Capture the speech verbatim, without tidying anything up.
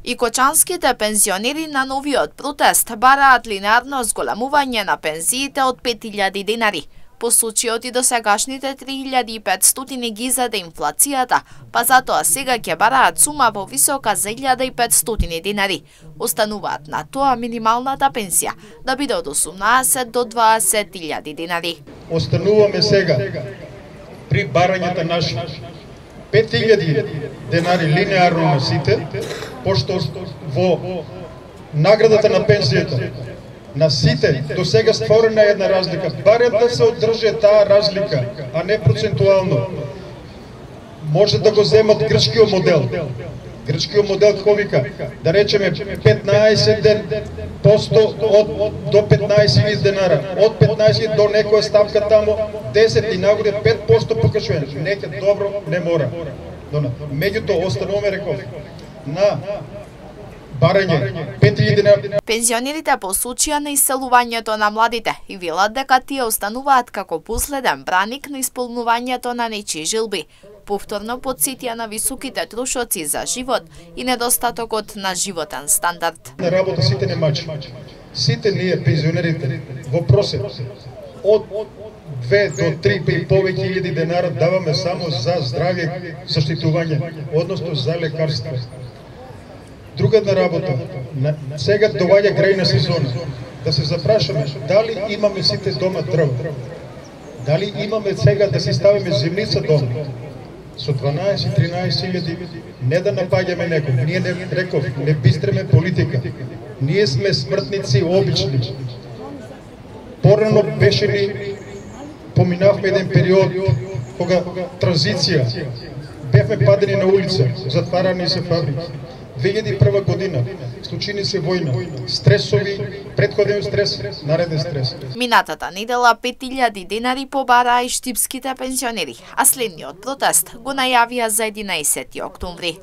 И кочанските пензионери на новиот протест бараат линеарно зголемување на пензиите од пет илјади денари. По случајот и досегашните три илјади и петстотини ги заде инфлацијата, па затоа сега ќе бараат сума повисока за илјада и петстотини денари. Остануваат на тоа минималната пензија да биде од осумнаесет до дваесет илјади денари. Остануваме сега при барањата наши пет илјади денари линеарно на сите, пошто во наградата на пензијата на сите до сега створена е една разлика. Барем да се одржи таа разлика, а не процентуално. Може да го земат грчкиот модел. Грчкиот модел како вика, да речеме петнаесет посто од до петнаесет илјади денара, од петнаесет до некоја ставка тамо десет и нагоре пет посто покачување. Нека добро не мора. Меѓутоа остануваме, реков, на барање пет илјади денара. Пензионерите по случаја на иселувањето на младите и велат дека тие остануваат како последен браник на исполнувањето на нечии жилби. Повторно подсетија на високите трошоци за живот и недостатокот на животен стандард. На работа сите не мачи. Сите ние пензионерите во просек од две до три и повеќе илјади денара даваме само за здравје заштитување, односно за лекарства. Друга една работа, сега доаѓа грејна сезона, да се запрашаме дали имаме сите дома дрва, дали имаме сега да си ставиме земница дома, со дванаесет тринаесет илјади, не да напаѓаме некој, ние не реков, не бистреме политика, ние сме смртници обични. Порано беше ни, поминавме еден период, кога транзиција, бевме падени на улица, затварани се фабрики. две илјади и прва година случини се војна, стресови, претходен стрес, нареден стрес. Минатата недела пет илјади денари побараа и штипските пензионери, а следниот протест го најавија за единаесети октомври.